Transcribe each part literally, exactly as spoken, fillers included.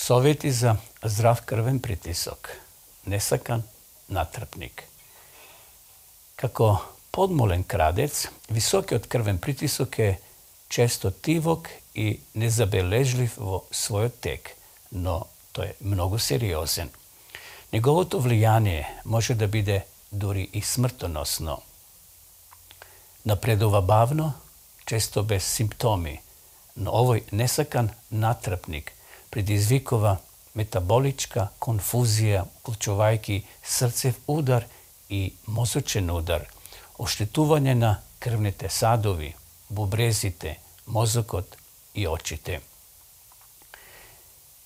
Совети за здрав крвен притисок. Несакан натрпник. Како подмолен крадец, високиот крвен притисок е често тивок и незабележлив во својот тек, но тој е многу сериозен. Неговото влијание може да биде дури и смртоносно. Напредува бавно, често без симптоми, но овој несакан натрпник предизвикува метаболичка конфузија, вклучувајќи срцев удар и мозочен удар, оштетување на крвните садови, бубрезите, мозокот и очите.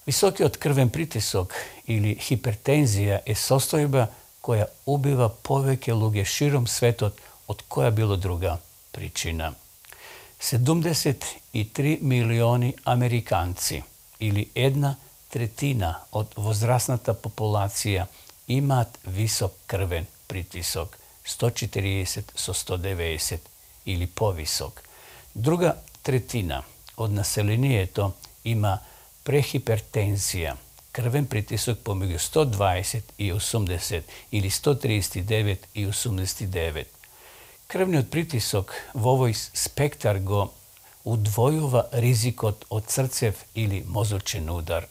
Високиот крвен притисок или хипертензија е состојба која убива повеќе луѓе широм светот од која било друга причина. седумдесет и три милиони американци или една третина од возрастната популација имаат висок крвен притисок, сто четириесет со сто деветдесет или повисок. Друга третина од населението има прехипертензија, крвен притисок помеѓу сто дваесет и осумдесет или сто триесет и девет и осумдесет и девет. Крвниот притисок во овој спектар го удвојува ризикот од срцев или мозочен удар.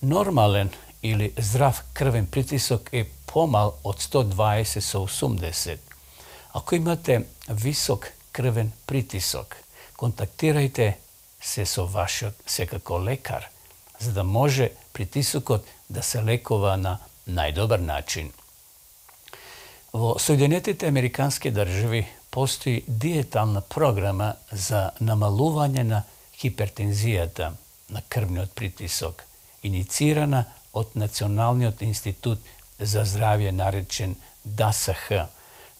Нормален или здрав крвен притисок е помал од сто дваесет со осумдесет. Ако имате висок крвен притисок, контактирајте се со вашиот секако лекар, за да може притисокот да се лекува на најдобар начин. Во Соединетите Американски држави постои диетална програма за намалување на хипертензијата, на крвниот притисок, иницирана од Националниот институт за здравје наречен Д А С Х.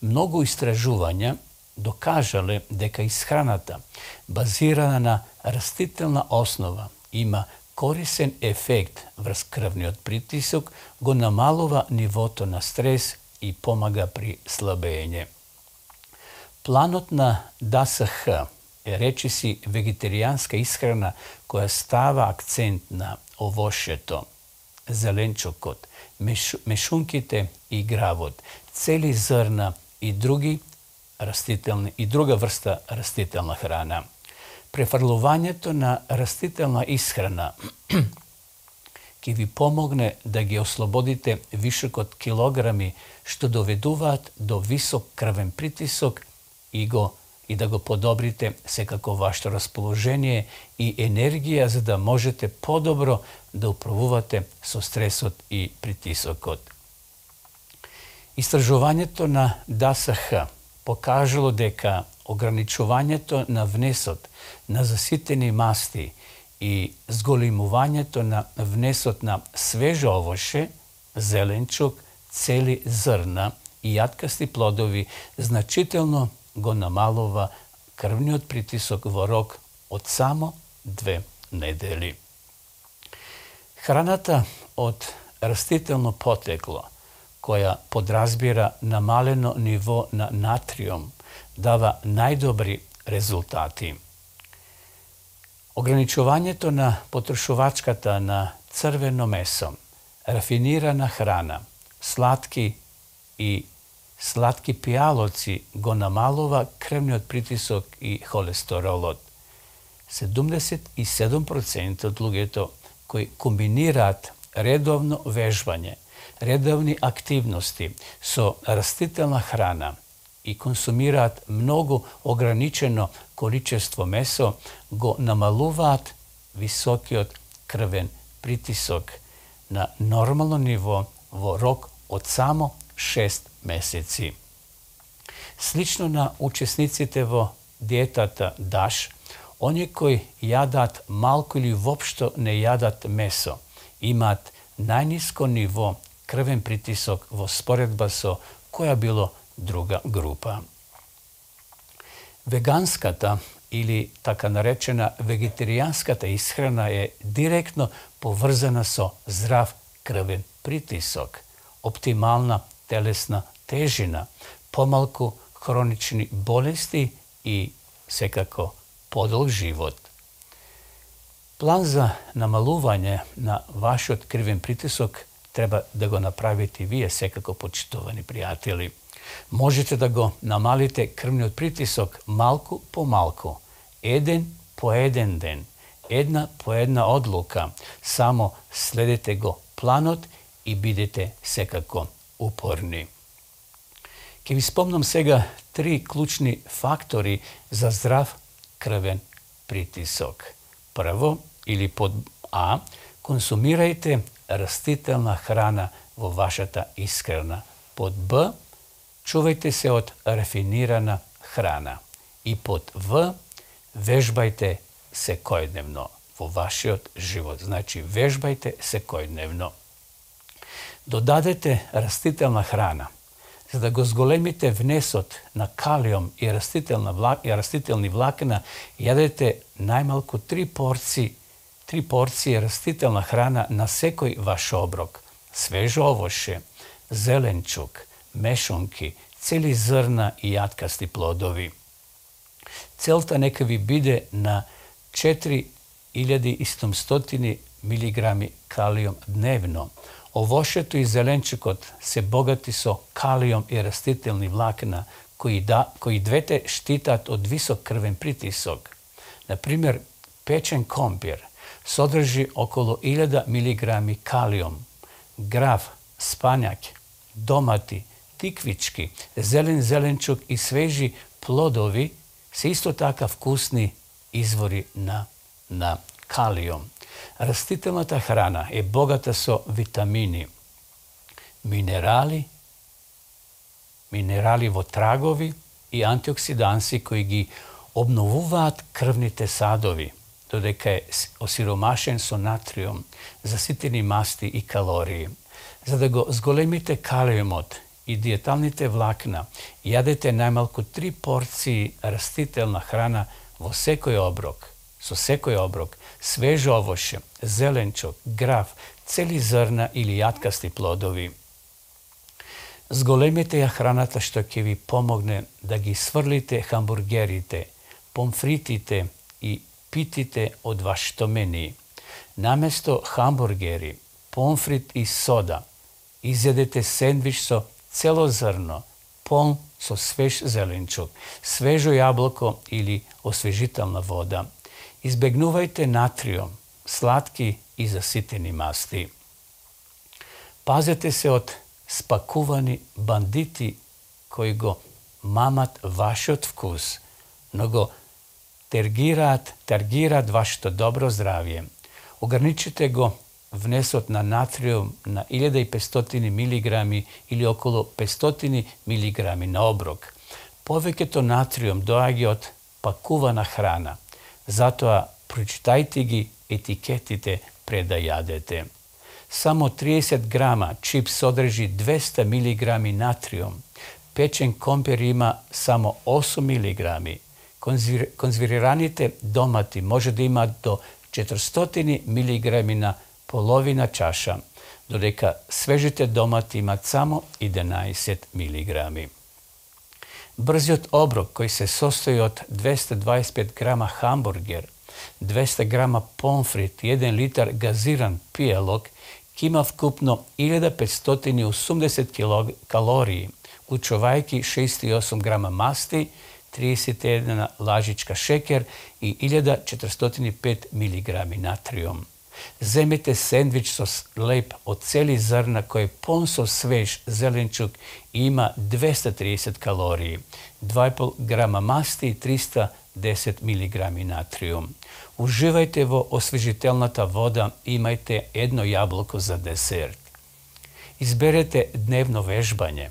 Многу истражувања докажале дека исхраната, базирана на растителна основа, има корисен ефект врз крвниот притисок, го намалува нивото на стрес и помага при слабење. Планот на Д А С Х е речиси вегетаријанска исхрана која става акцент на овошјето, зеленчукот, меш, мешунките и гравот, цели зрна и други растителни и друга врста растителна храна. Префрлувањето на растителна исхрана ќе ви помогне да ги ослободите вишокот килограми што доведуваат до висок крвен притисок и го и да го подобрите секако вашето расположение и енергија за да можете подобро да управувате со стресот и притисокот. Истражувањето на Д А С Х покажало дека ограничувањето на внесот на заситени масти и зголемувањето на внесот на свежо овоше, зеленчук, цели зрна и јаткасти плодови значително го намалува крвниот притисок во рок од само две недели. Храната од растително потекло, која подразбира намалено ниво на натриум, дава најдобри резултати. Ограничувањето на потрошувачката на црвено месо, рафинирана храна, сладки и сладки пијалоци го намалува крвниот притисок и холестеролот. седумдесет и седум проценти од луѓето кои комбинираат редовно вежбање, редовни активности со растителна храна и консумираат многу ограничено количество месо, го намалуваат високиот крвен притисок на нормално ниво во рок од само шест месеци. Слично на учесниците во диетата ДАШ, оние кои јадат малку или воопшто не јадат месо, имаат најниско ниво крвен притисок во споредба со која било друга група. Веганската или така наречена вегетаријанската исхрана е директно поврзана со здрав крвен притисок, оптимална телесна тежина, помалку хронични болести и секако подолг живот. План за намалување на вашиот крвен притисок треба да го направите вие секако, почитувани пријатели. Можете да го намалите крвниот притисок малку по малку, еден по еден ден, една по една одлука. Само следете го планот и бидете секако упорни. Ке ви спомнам сега три клучни фактори за здрав крвен притисок. Прво, или под А, консумирајте растителна храна во вашата исхрана. Под Б, чувајте се од рафинирана храна. И под В, вежбајте секојдневно во вашиот живот. Значи, вежбајте секојдневно. Додадете растителна храна. За да го зголемите внесот на калиум и растителна влак, и растителни влакна, јадете најмалку три порции, три порции растителна храна на секој ваш оброк. Свежо овоше, зеленчук, мешунки, цели зрна и јаткасти плодови. Целта нека ви биде на четири илјади и седумстотини милиграми калиум дневно. Овошето и зеленчукот се богати со калиум и растителни влакна, кои, да, кои двете штитат од висок крвен притисок. Например, печен компир содржи околу илјада милиграми калиум. Граф, спањак, домати, тиквички, зелен зеленчук и свежи плодови се исто така вкусни извори на, на калиум. Растителната храна е богата со витамини, минерали, минерали во трагови и антиоксиданси кои ги обновуваат крвните садови, додека е осиромашен со натриум, заситени масти и калории. За да го зголемите калиумот и диеталните влакна, јадете најмалку три порции растителна храна во секој оброк. Со секој оброк, свежо овоше, зеленчук, граф, цели зрна или јаткасти плодови. Зголемите ја храната што ќе ви помогне да ги сврлите хамбургерите, помфритите и питите од вашето мени. Наместо хамбургери, помфрит и сода, изедете сендвич со цело зрно, полн со свеж зеленчук, свежо јаблко или освежителна вода. Избегнувајте натриум, сладки и заситени масти. Пазете се од спакувани бандити кои го мамат вашиот вкус, но го тергираат, тергираат вашето добро здравје. Ограничите го внесот на натриум на илјада и петстотини милиграми или околу петстотини милиграми на оброк. Повеќето натриум доаѓа од пакувана храна. Затоа прочитајте ги етикетите пред да јадете. Само триесет грама чип содржи двеста милиграми натриум. Печен компир има само осум милиграми. Конзервираните домати може да имаат до четиристотини милиграми на половина чаша, додека свежите домати имаат само единаесет милиграми. Брзиот оброк кој се состои од двеста дваесет и пет грама хамбургер, двеста грама помфрит и еден литар газиран пијалок ќе има вкупно илјада петстотини и осумдесет калории, учувајќи шеесет и осум грама масти, триесет и една лажичка шекер и илјада четиристотини и пет милиграми натриум. Земете сендвич со леп од цели зрна кој е полн со свеж зеленчук и има двеста триесет калории, два и пол грама масти и триста десет милиграми натриум. Уживајте во освежителната вода и имајте едно јаблко за десерт. Изберете дневно вежбање.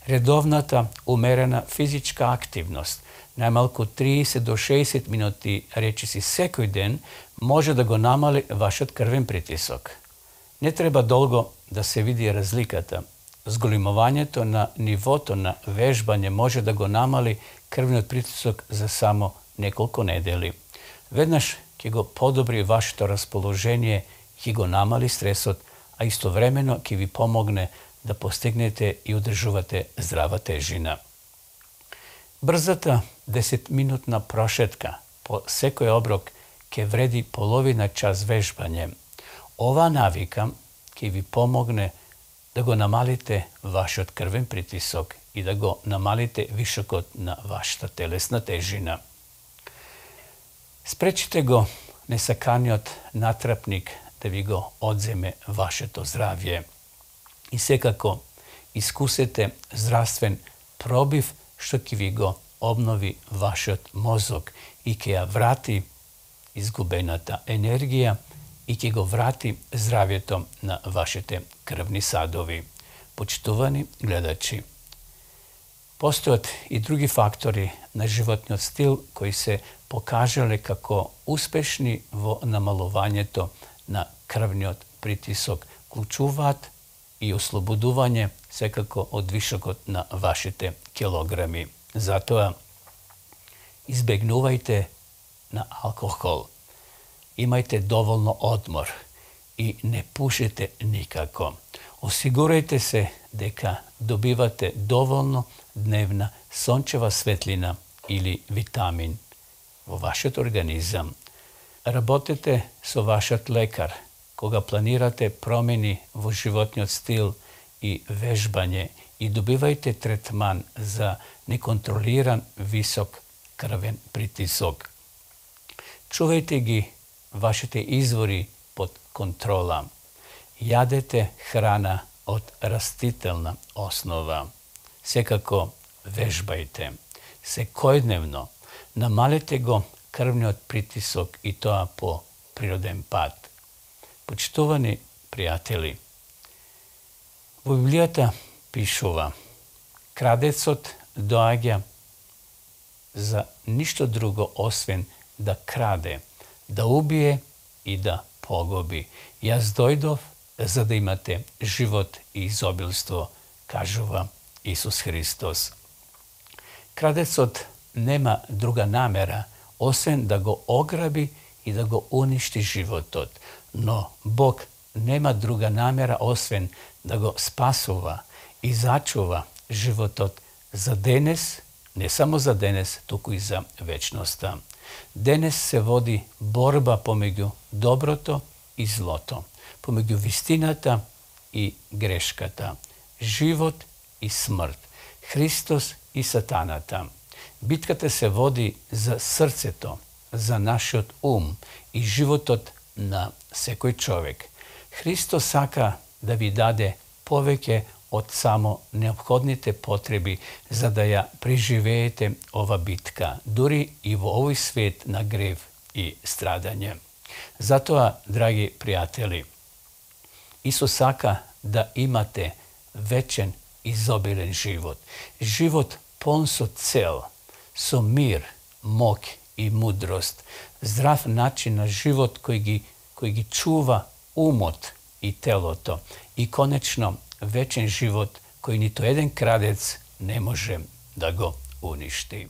Редовната умерена физичка активност, најмалку триесет до шеесет минути речиси секој ден, може да го намали вашиот крвен притисок. Не треба долго да се види разликата. Зголемувањето на нивото на вежбање може да го намали крвниот притисок за само неколку недели. Веднаш ќе го подобри вашето расположение, ќе го намали стресот, а истовремено ќе ви помогне да постигнете и одржувате здрава тежина. Брзата десетминутна прошетка по секој оброк ке вреди половина час вежбање. Ова навика ќе ви помогне да го намалите вашиот крвен притисок и да го намалите вишокот на вашата телесна тежина. Спречите го несаканиот натрапник да ви го одземе вашето здравје. И секако искусете здравствен пробив што ќе ви го обнови вашиот мозок и ќе ја врати изгубената енергија и ќе го врати здравјето на вашите крвни садови. Почитувани гледачи, постојат и други фактори на животниот стил кои се покажале како успешни во намалувањето на крвниот притисок, вклучуваат и ослободување секако од вишокот на вашите килограми. Затоа избегнувајте на алкохол, имајте доволно одмор и не пушите никако. Осигурајте се дека добивате доволно дневна сончева светлина или витамин во вашиот организам. Работете со вашиот лекар кога планирате промени во животниот стил и вежбање и добивајте третман за неконтролиран висок крвен притисок. Чувајте ги вашите извори под контрола. Јадете храна од растителна основа. Секако вежбајте. Секојдневно намалете го крвниот притисок и тоа по природен пат. Почитувани пријатели, во Библијата пишува: крадецот доаѓа за ништо друго освен да краде, да убие и да погуби. Јас дојдов за да имате живот и изобилство, кажува Исус Христос. Крадецот нема друга намера освен да го ограби и да го уништи животот, но Бог нема друга намера освен да го спасува и зачува животот за денес, не само за денес, туку и за вечноста. Денес се води борба помеѓу доброто и злото, помеѓу вистината и грешката, живот и смрт, Христос и сатаната. Битката се води за срцето, за нашиот ум и животот на секој човек. Христос сака да ви даде повеќе од само неопходните потреби за да ја преживеете ова битка, дури и во овој свет на грев и страдање. Затоа, драги пријатели, Исус сака да имате вечен изобилен живот. Живот полн со цел, со мир, мок и мудрост. Здрав начин на живот кој ги, кој ги чува умот и телото. И конечно, вечен живот кој ниту еден крадец не може да го уништи.